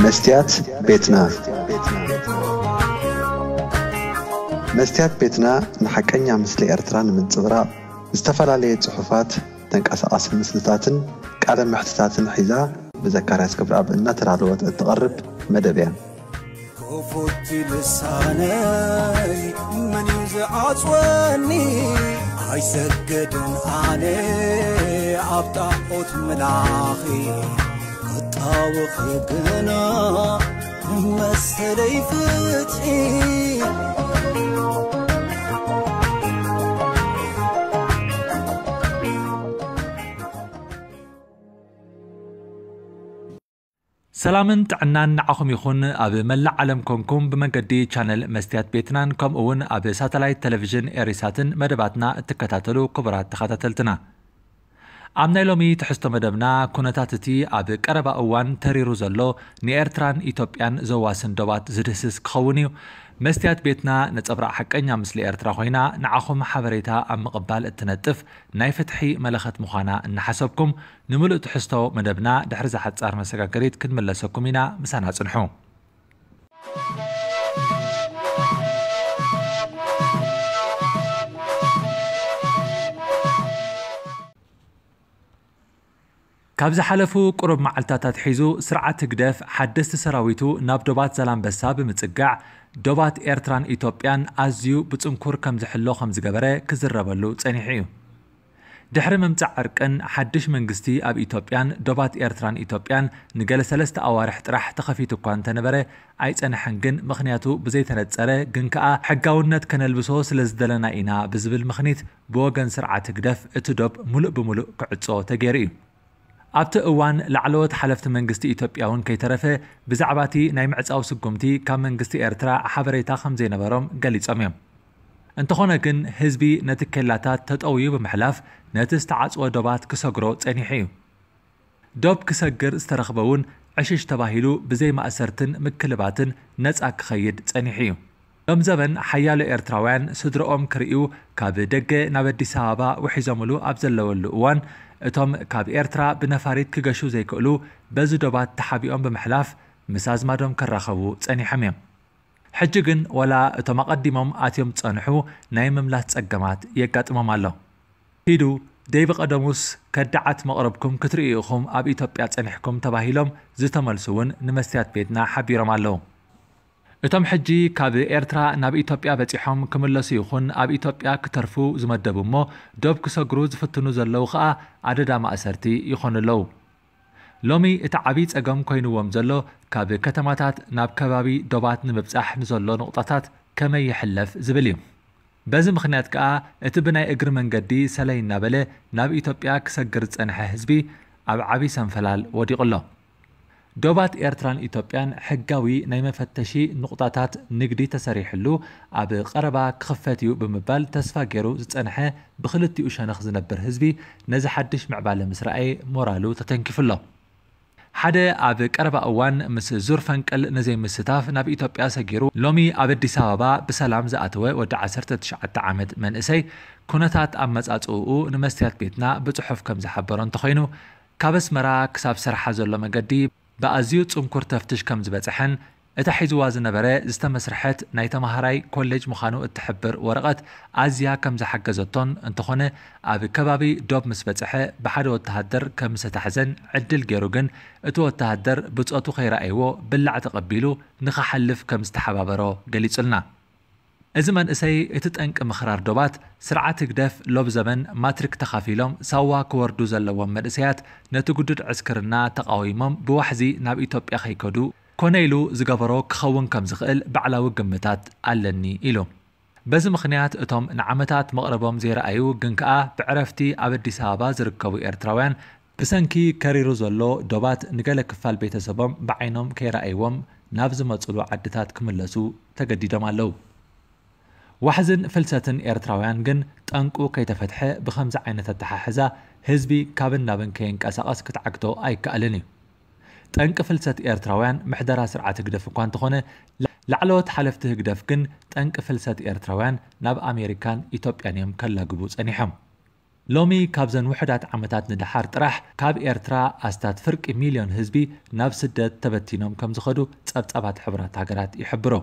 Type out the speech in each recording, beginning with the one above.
መስትያት ቤትና። መስትያት ቤትና ንሓቀኛ ምስሊ ኤርትራ ንምንጽብራቕ ዝተፈላለየ ጽሑፋት፣ ተንቀሳቓሲ ምስልታትን ቃለ መሕትታትን ሒዛ ብዘካርያስ ክብረኣብ እናተዳለወት እትቐርብ መደብ እያ። ክፉት ልሳነይ መን እዩ ዝዓጽወኒ? ኣይሰግድን ኣነ ኣብ ጣዖት ምላኺ፣ ክጣወኺ ግና መሰለይ ፍትሒ። ሰላምን ጥዕናን ንዓኹም ይኹን። ኣብ መላእ ዓለም ኮንኩም ብመንገዲ ቻነል መስትያት ቤትናን ከምኡ እውን ኣብ ሳተላይት ቴሌቪዥን ኤሪሳትን መደባትና እትከታተሉ ክቡራት ተኸታተልትና፣ ኣብ ናይ ሎሚ ትሕዝቶ መደብና፣ ኩነታት እቲ ኣብ ቀረባ እዋን ተሪሩ ዘሎ ንኤርትራን ኢትዮጵያን ዘዋስን ዶባት ዝድህስስ ክኸውን እዩ። መስትያት ቤትና ነጸብራቕ ሓቀኛ ምስሊ ኤርትራ ኮይና ንዓኹም ሓበሬታ ኣብ ምቕባል እትነጥፍ ናይ ፍትሒ መለኸት ምዃና እናሓሰብኩም፣ ንምሉእ ትሕዝቶ መደብና ድሕሪ እዛ ሓጻር መሰጋገሪት ክንምለሰኩም ኢና። ምሳና ጽንሑ። ካብ ዝሓለፉ ቁሩብ መዓልታት ኣትሒዙ፣ ስርዓት ህግደፍ ሓደስቲ ሰራዊቱ ናብ ዶባት ዛላምበሳ ብምጽጋዕ፣ ዶባት ኤርትራን ኢትዮጵያን ኣዝዩ ብጽንኩር ከም ዝሕሎ ከም ዝገበረ ክዝረበሉ ጸኒሑ እዩ። ድሕሪ ምምጻእ ዕርቅን ሓድሽ መንግስቲ ኣብ ኢትዮጵያን ዶባት ኤርትራን ኢትዮጵያን ንገለ ሰለስተ ኣዋርሕ ጥራሕ ተኸፊቱ እኳ እንተነበረ ኣይጸንሐን። ግን ምኽንያቱ ብዘይተነጸረ ግን ከኣ ሕጋውነት ከነልብሶ ስለ ዝደለና ኢና ብዝብል ምኽኒት ብወገን ስርዓት ህግደፍ እቲ ዶብ ሙሉእ ብሙሉእ ክዕጾ ተገይሩ እዩ። ኣብቲ እዋን ላዕለዎት ሓለፍቲ መንግስቲ ኢትዮጵያ እውን ከይተረፈ ብዛዕባ እቲ ናይ ምዕጻው ስጉምቲ ካብ መንግስቲ ኤርትራ ሓበሬታ ከም ዘይነበሮም ገሊጾም እዮም። እንተኾነ ግን ህዝቢ ነቲ ኬላታት ተጠውዩ ብምሕላፍ ነቲ ዝተዓጽወ ዶባት ክሰግሮ ጸኒሑ እዩ። ዶብ ክሰግር ዝተረኽበ እውን ዕሽሽ ተባሂሉ ብዘይ ማእሰርትን ምክልባትን ነጻ ክኸይድ ጸኒሑ እዩ። ሎም ዘበን ሓያሎ ኤርትራውያን ስድርኦም ክርእዩ ካብ ደገ ናብ ኣዲስ ኣበባ ውሒዞምሉ ኣብ ዘለወሉ እዋን፣ እቶም ካብ ኤርትራ ብነፋሪት ክገሹ ዘይክእሉ በዚ ዶባት ተሓቢኦም ብምሕላፍ ምስ ኣዝማዶም ክራኸቡ ጸኒሖም እዮም። ሕጂ ግን ወላ እቶም ኣቐዲሞም ኣትዮም ዝጸንሑ ናይ ምምላስ ጸገማት የጋጥሞም ኣሎ። ኪዱ፣ ደይ ብቐደሙስ ከዳዓት መቕረብኩም ክትርእዩ ኢኹም ኣብ ኢትዮጵያ ጸኒሕኩም ተባሂሎም ዝተመልሱ እውን ንመስትያት ቤትና ሓቢሮም ኣለዉ። እቶም ሕጂ ካብ ኤርትራ ናብ ኢትዮጵያ በጺሖም ክምለሱ ይኹን ኣብ ኢትዮጵያ ክተርፉ ዝመደቡ እሞ ዶብ ክሰግሩ ዝፍትኑ ዘለዉ ኸኣ ኣደዳ ማእሰርቲ ይኾኑ ኣለዉ። ሎሚ እቲ ዓብዪ ጸገም ኮይንዎም ዘሎ ካብ ከተማታት ናብ ከባቢ ዶባት ንምብጻሕ ንዘሎ ንቑጣታት ከመይ ይሕለፍ ዝብል እዩ። በዚ ምኽንያት ከኣ እቲ ብናይ እግሪ መንገዲ ሰለይ እናበለ ናብ ኢትዮጵያ ክሰግር ዝጸንሐ ህዝቢ ኣብ ዓብዪ ሰንፈላል ወዲቑ ኣሎ። ዶባት ኤርትራን ኢትዮጵያን ሕጋዊ ናይ መፈተሺ ንቑጣታት ንግዲ ተሰሪሕሉ ኣብ ቀረባ ክኽፈት እዩ ብምባል ተስፋ ገይሩ ዝጸንሐ ብኽልቲኡ ሸነኽ ዝነብር ህዝቢ ነዚ ሓድሽ ምዕባለ ምስ ረኣየ ሞራሉ ተተንኪፉ ኣሎ። ሓደ ኣብ ቀረባ እዋን ምስ ዙር ፈንቅል ንዘይምስታፍ ናብ ኢትዮጵያ ሰጊሩ ሎሚ ኣብ ኣዲስ ኣበባ ብሰላም ዝኣተወ ወዲ ዓሰርተ ትሽዓተ ዓመት መንእሰይ ኩነታት ኣመጻጽእኡ ንመስትያት ቤትና ብጽሑፍ ከም ዝሓበሮ እንተኾይኑ፣ ካብ ኣስመራ ክሳብ ሰርሓ ዘሎ መገዲ ብኣዝዩ ጽንኩር ተፍትሽ ከም ዝበጽሐን እታ ሒዝዋ ዝነበረ ዝተመስርሐት ናይ ተማሃራይ ኮሌጅ ምዃኑ እትሕብር ወረቐት ኣዝያ ከም ዝሓገዘቶን፣ እንተኾነ ኣብ ከባቢ ዶብ ምስ በጽሐ ብሓደ ወተሃደር ከም ዝተታሕዘን ዕድል ገይሩ ግን እቲ ወተሃደር ብጾቱ ከይረኣይዎ ብላዕ ተቐቢሉ ንኽሓልፍ ከም ዝተሓባበሮ ገሊጹልና። እዚ መንእሰይ እቲ ጠንቂ ምኽራር ዶባት ስርዓት ህግደፍ ሎብ ዘበን ማትሪክ ተኻፊሎም ሳዋ ክወርዱ ዘለዎም መንእሰያት ነቲ ግዱድ ዕስክርና ተቓዊሞም ብዋሕዚ ናብ ኢትዮጵያ ከይከዱ ኮነ ኢሉ ዝገበሮ ክኸውን ከም ዝኽእል ባዕላዊ ግምታት ኣለኒ ኢሉ። በዚ ምኽንያት እቶም ንዓመታት መቕረቦም ዘይረኣዩ ግን ከኣ ብዕረፍቲ ኣብ ኣዲስ ኣበባ ዝርከቡ ኤርትራውያን ብሰንኪ ከሪሩ ዘሎ ዶባት ንገለ ክፋል ቤተሰቦም ብዓይኖም ከይረኣይዎም ናብ ዝመጹሉ ዓድታት ክምለሱ ተገዲዶም ኣለዉ። ዋሕዝን ፍልሰትን ኤርትራውያን ግን ጠንቁ ከይተፈትሐ ብኸምዚ ዓይነት ኣተሓሕዛ ህዝቢ ካብን ናብን ከይንቀሳቐስ ክትዓግቶ ኣይከኣልን እዩ። ጠንቂ ፍልሰት ኤርትራውያን ምሕደራ ስርዓት ህግደፍ እኳ እንተኾነ፣ ላዕለዎት ሓለፍቲ ህግደፍ ግን ጠንቂ ፍልሰት ኤርትራውያን ናብ ኣሜሪካን ኢትዮጵያን እዮም ከላግቡ ጸኒሖም። ሎሚ ካብዘን ውሑዳት ዓመታት ንደሓር ጥራሕ ካብ ኤርትራ ኣስታት ፍርቂ ሚልዮን ህዝቢ ናብ ስደት ተበቲኖም ከም ዝኸዱ ጸብጻባት ሕቡራት ሃገራት ይሕብሮ።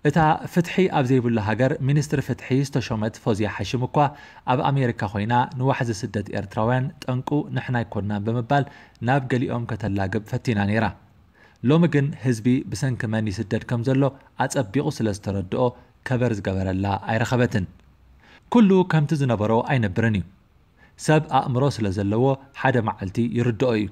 እታ ፍትሒ ኣብ ዘይብሉ ሃገር ሚኒስትሪ ፍትሒ ዝተሾመት ፎዝያ ሓሽም እኳ ኣብ ኣሜሪካ ኮይና ንዋሕዚ ስደት ኤርትራውያን ጠንቁ ንሕና ኣይኮናን ብምባል ናብ ገሊኦም ከተላግብ ፈቲና ነይራ። ሎሚ ግን ህዝቢ ብሰንኪ መን ይስደድ ከም ዘሎ ኣጸቢቑ ስለ ዝተረድኦ ከበር ዝገበረላ ኣይረኸበትን። ኩሉ ከምቲ ዝነበሮ ኣይነብርን እዩ። ሰብ ኣእምሮ ስለ ዘለዎ ሓደ መዓልቲ ይርድኦ እዩ።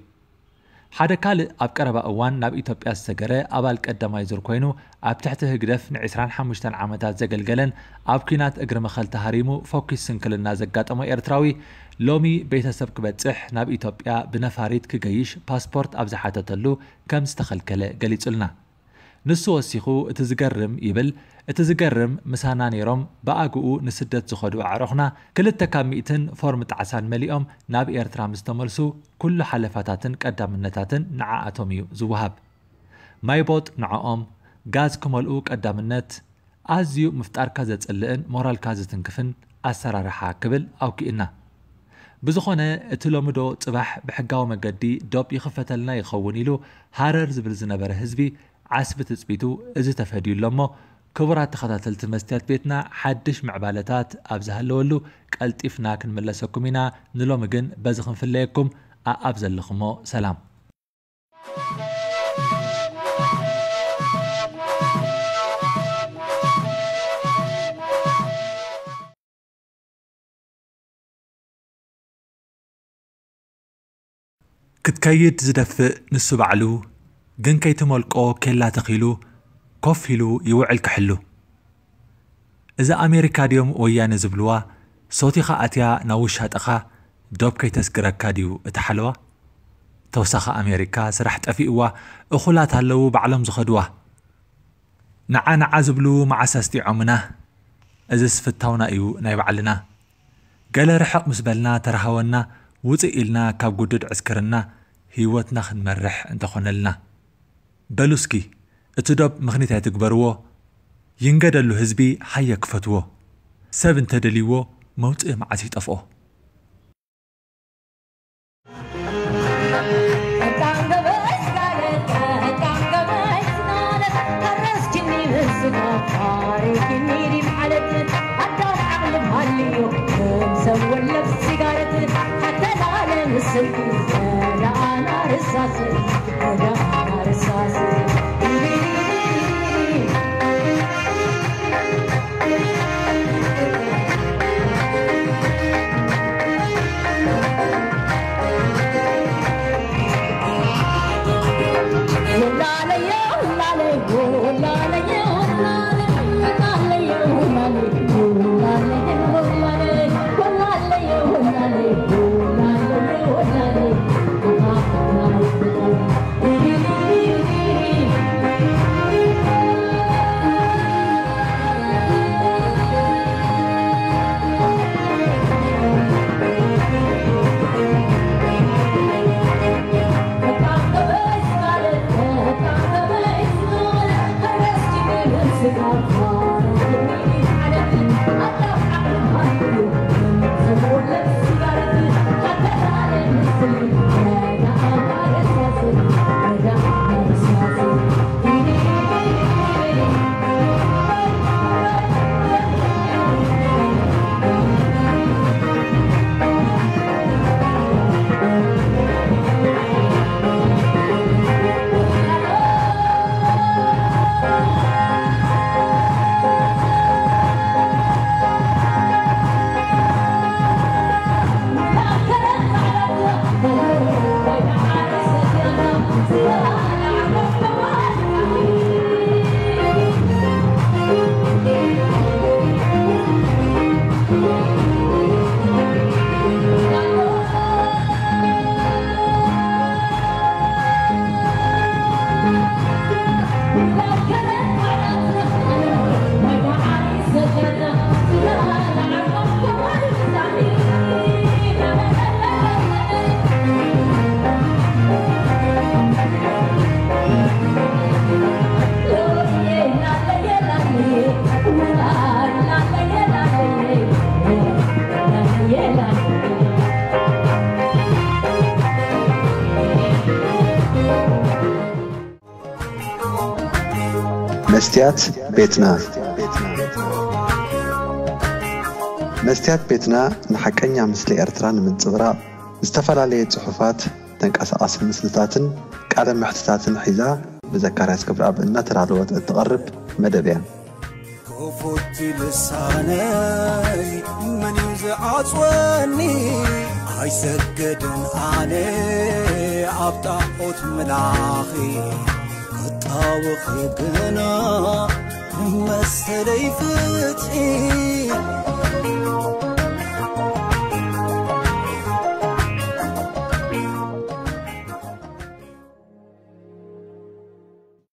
ሓደ ካልእ ኣብ ቀረባ እዋን ናብ ኢትዮጵያ ዝሰገረ ኣባል ቀዳማይ ዙር ኮይኑ ኣብ ትሕቲ ህግደፍ ን ዕስራን ሓሙሽተን ዓመታት ዘገልገለን ኣብ ኲናት እግሪ መኸል ተሃሪሙ ፈኲስ ስንክልና ዘጋጠሞ ኤርትራዊ ሎሚ ቤተሰብ ክበጽሕ ናብ ኢትዮጵያ ብነፋሪት ክገይሽ ፓስፖርት ኣብ ዝሓተተሉ ከም ዝተኸልከለ ገሊጹልና። ንሱ ወሲኹ እቲ ዝገርም ይብል፣ እቲ ዝገርም ምሳና ነይሮም ብኣግኡ ንስደት ዝኸዱ ኣዕሩኽና ክልተ ካብ ሚእትን ፎርም ጣዕሳን መሊኦም ናብ ኤርትራ ምስ ተመልሱ ኩሉ ሓለፋታትን ቀዳምነታትን ንዓኣቶም እዩ ዝወሃብ። ማይ ቦጥ ንዕኦም፣ ጋዝ ክመልኡ ቀዳምነት፣ ኣዝዩ ምፍጣርካ ዘጽልእን ሞራልካ ዝትንክፍን ኣሰራርሓ ክብል ኣውኪእና። ብዝኾነ እቲ ሎሚ ዶ ጽባሕ ብሕጋዊ መገዲ ዶብ ይኽፈተልና ይኸውን ኢሉ ሃረር ዝብል ዝነበረ ህዝቢ ዓስቢ ትጽቢቱ እዚ ተፈድዩ ኣሎ እሞ ክቡራት ተኸታተልቲ መስትያት ቤትና ሓድሽ ምዕባለታት ኣብ ዝሃለወሉ ቀልጢፍና ክንምለሰኩም ኢና። ንሎሚ ግን በዚ ክንፍለየኩም ኣኣብ ዘለኹሞ ሰላም። ክትከይድ ዝደፍእ ንሱ ባዕሉ ግን ከይትመልቆ ኬላ ተኺሉ ኮፍ ኢሉ ይውዕል ክሕሉ። እዛ ኣሜሪካ ድዮም ወያነ ዝብልዋ ሶቲኻ ኣትያ ናብ ውሻጠኻ ዶብ ከይተስግረካ ድዩ እቲ ሓለዋ? ተውሳኺ ኣሜሪካ ስራሕ ጠፊእዋ እኹላት ኣለዉ ባዕሎም ዝኸድዋ። ንዓ ንዓ ዝብሉ መዓስ ኣስጢዖምና? እዝስ ፍታውና እዩ ናይ ባዕልና። ገለ ርሕቕ ምስ በልና ተረሃወና ውፅእ ኢልና ካብ ጉዱድ ዕስክርና ህይወትና ክንመርሕ እንተኾነልና። በሉ እስኪ እቲ ዶብ ምኽኒት ኣይትግበርዎ። ይንገደሉ ህዝቢ ሃየ ክፈትዎ። ሰብ እንተደልይዎ መውፅኢ መዓስ ይጠፍኦ። መስትያት ቤትና። መስትያት ቤትና ንሓቀኛ ምስሊ ኤርትራ ንምንጽብራቕ ዝተፈላለየ ጽሑፋት፣ ተንቀሳቓሲ ምስልታትን ቃለ መሕትታትን ሒዛ ብዘካርያስ ክብረኣብ እናተዳለወት እትቐርብ መደብ እያ። ክፉት ልሳነይ መን እዩ ዝዓጽወኒ? ኣይሰገድን ኣነ ኣብ ጣዖት ምላኺ ክጣወኺ ግና መሰለይ ፍትሒ።